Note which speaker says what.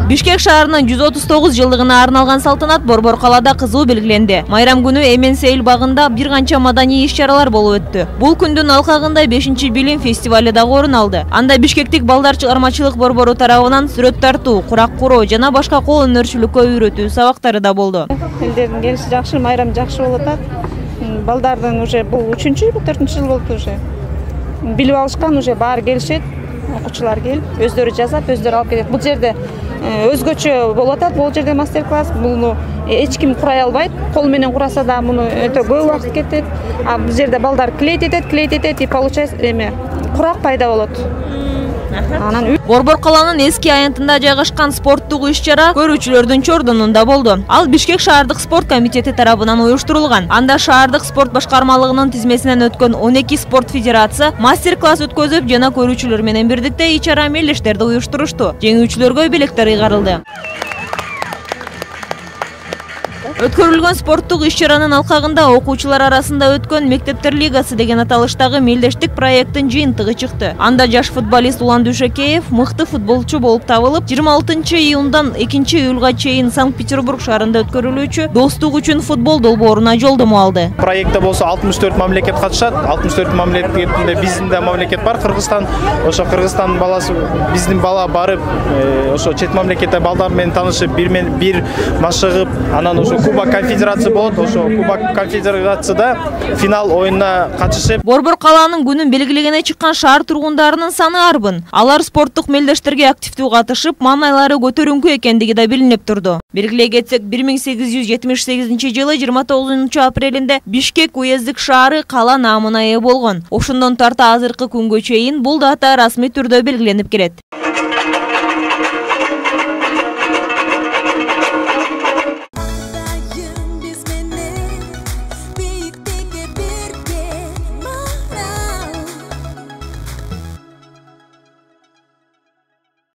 Speaker 1: Бишкек шаарынын 139 жылдыгына арналган салтанат Борбор калаада кызуу белгиленди. Майрам күнү Эмен-Сейил багында бир канча маданий иш-чаралар болуп өттү. Бул күндүн алкагында 5-билим фестивале дагы орун алды. Анда бишкектик балдар чыгармачылык борбору тарабынан сүрөт тартуу, курак куроо жана башка кол өнөрчүлүккө үйрөтүү сабактары да болду.
Speaker 2: Элдердин келиши жакшы, майрам жакшы болуп атат. Балдардын уже бул 3-4 жыл болду уже. Билип алышкан уже баары келишет. Окуучулар келип, өздөрү жазат, өздөрү алып кетет. Бул жерде өзгөчө болуп атат. Бул жерде мастер-класс. Буну эч ким курай албайт. Кол менен кураса да муну өтө көп убакыт кетет. А бул жерде балдар клеить этет и получается курак пайда болот. Анан
Speaker 1: Борбор каланын эски аянтында жайгашкан спорттук иш-чара көрүүчүлөрдүн чордонунда болду. Ал Бишкек шаардык спорт комитети тарабынан уюштурулган. Анда шаардык спорт башкармалыгынын тизмесинен өткөн 12 спорт федерация мастер-класс өткөзүп жана көрүүчүлөр менен бирдикте ич-чара мелдештерди уюштурушту. Жеңүүчүлөргө белектер ыйгарылды. Өткөрүлгөн спорттук иш-чаранын алкагында окуучулар арасында өткөн Мектептер лигасы деген аталыштагы мелдештик проекттин жыйынтыгы чыкты. Анда жаш футболист Улан Дүйшөкеев мыкты футболчу болуп табылып, 26-июндан 2-июлга чейин Санкт-Петербург шаарында өткөрүлүүчү Достук үчүн футбол долбооруна жолдомо алды.
Speaker 3: Проектте болсо 64 мамлекет катышат. 64 мамлекетинде биздин да мамлекет бар, Кыргызстан. Ошо Кыргызстандын баласы, биздин бала барып, ошо чет мамлекетте балдар менен таанышып, бир машыгып, анан ошо Кубок конфедерация болот. Ошо Кубок конфедерацияда финал оюнуна катышып,
Speaker 1: Борбор калаанын күнүн белгилегене чыккан шаар тургундарынын саны арбын. Алар спорттук мелдештерге активдүү катышып, маанайлары көтөрүңкү экендиги да билинип турду. Белгилей кетсек, 1878-жылы 29-апрелинде Бишкек уездик шаары кала наамына ээ болгон. Ошондон тарта азыркы күнгө чейин бул дата расмий түрдө белгиленип келет.